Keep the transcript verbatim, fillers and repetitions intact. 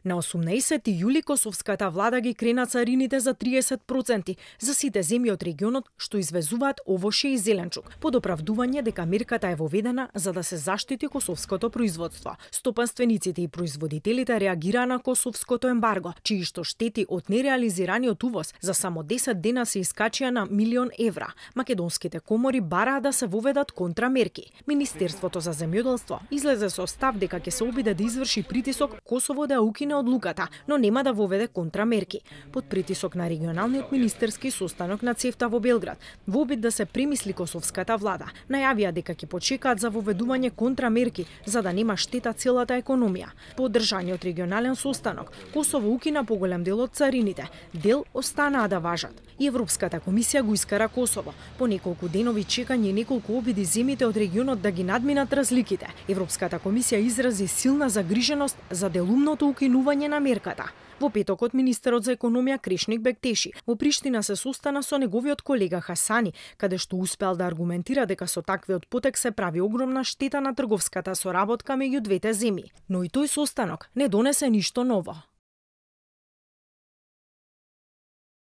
На осумнаесети јули косовската влада ги крена царините за триесет проценти за сите земји од регионот што извезуваат овошје и зеленчук, под оправдување дека мерката е воведена за да се заштити косовското производство. Стопанствениците и производителите реагираа на косовското ембарго, чии што штети од нереализираниот увоз за само десет дена се искачија на милион евра. Македонските комори бараа да се воведат контрамерки. Министерството за земјоделство излезе со став дека ќе се обиде да изврши притисок Косово да укине одлуката, но нема да воведе контрамерки. Под притисок на регионалниот министерски состанок на ЦЕФТА во Белград, во обид да се премисли косовската влада, најавија дека ќе почекаат за воведување контрамерки за да нема штета целата економија. По одржаниот регионален состанок, Косово укина поголем дел од царините, дел останаа да важат. И Европската комисија го искара Косово. По неколку денови чекање и неколку обиди земјите од регионот да ги надминат разликите, Европската комисија изрази силна загриженост за делумното укинување на мерката. Во петокот министерот за економија Кришник Бектеши во Приштина се состана со неговиот колега Хасани, каде што успеал да аргументира дека со таквиот потек се прави огромна штета на трговската соработка меѓу двете земји. Но и тој состанок не донесе ништо ново.